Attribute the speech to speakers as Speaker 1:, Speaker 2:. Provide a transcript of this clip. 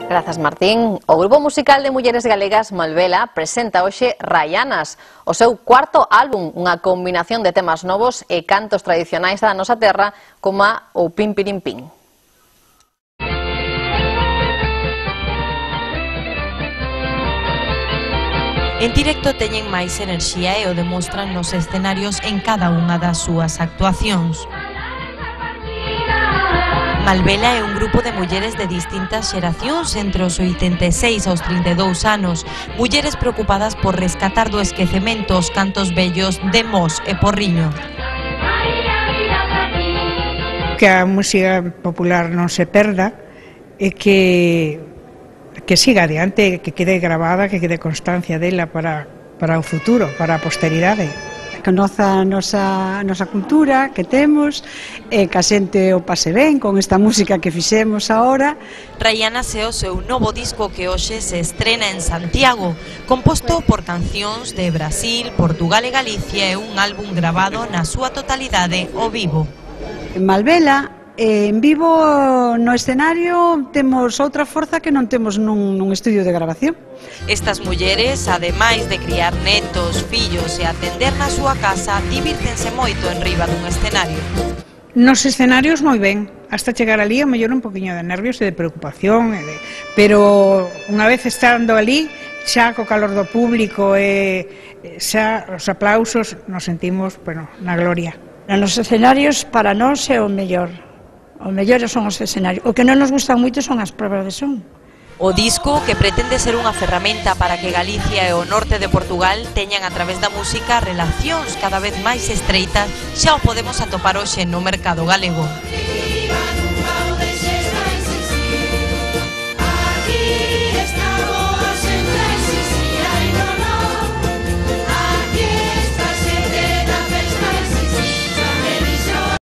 Speaker 1: Grazas, Martín. O grupo musical de mulleres galegas Malvela presenta hoxe Rayanas, o seu cuarto álbum, unha combinación de temas novos e cantos tradicionais da nosa terra como o Pim Pirim Pim.
Speaker 2: En directo teñen máis enerxía e o demostran nos escenarios en cada unha das súas actuacións. Malvela é un grupo de mulleres de distintas xeracións entre os 86 aos 32 anos, mulleres preocupadas por rescatar do esquecemento os cantos vellos de Mos e Porriño.
Speaker 3: Que a música popular non se perda e que siga adiante, que quede grabada, que quede constancia dela para o futuro, para a posteridade.
Speaker 4: Que a nosa cultura que temos, e que a xente o pase ben con esta música que fixemos agora.
Speaker 2: Rayanas é o seu novo disco que hoxe se estrena en Santiago, composto por cancións de Brasil, Portugal e Galicia, e un álbum grabado na súa totalidade ao vivo.
Speaker 4: En Malvela, en vivo no escenario temos outra forza que non temos nun estudio de grabación.
Speaker 2: Estas mulleres, ademais de criar netos, fillos e atender na súa casa, divírtense moito en riba dun escenario.
Speaker 3: Nos escenarios moi ben, hasta chegar ali a mellor un poquinho de nervios e de preocupación, pero unha vez estando ali, xa co calor do público e xa os aplausos, nos sentimos, na gloria.
Speaker 5: Nos escenarios para nós é o mellor. O mellor son os escenarios. O que non nos gustan moito son as probas de son.
Speaker 2: O disco, que pretende ser unha ferramenta para que Galicia e o norte de Portugal teñan a través da música relacións cada vez máis estreitas, xa o podemos atopar hoxe no mercado galego.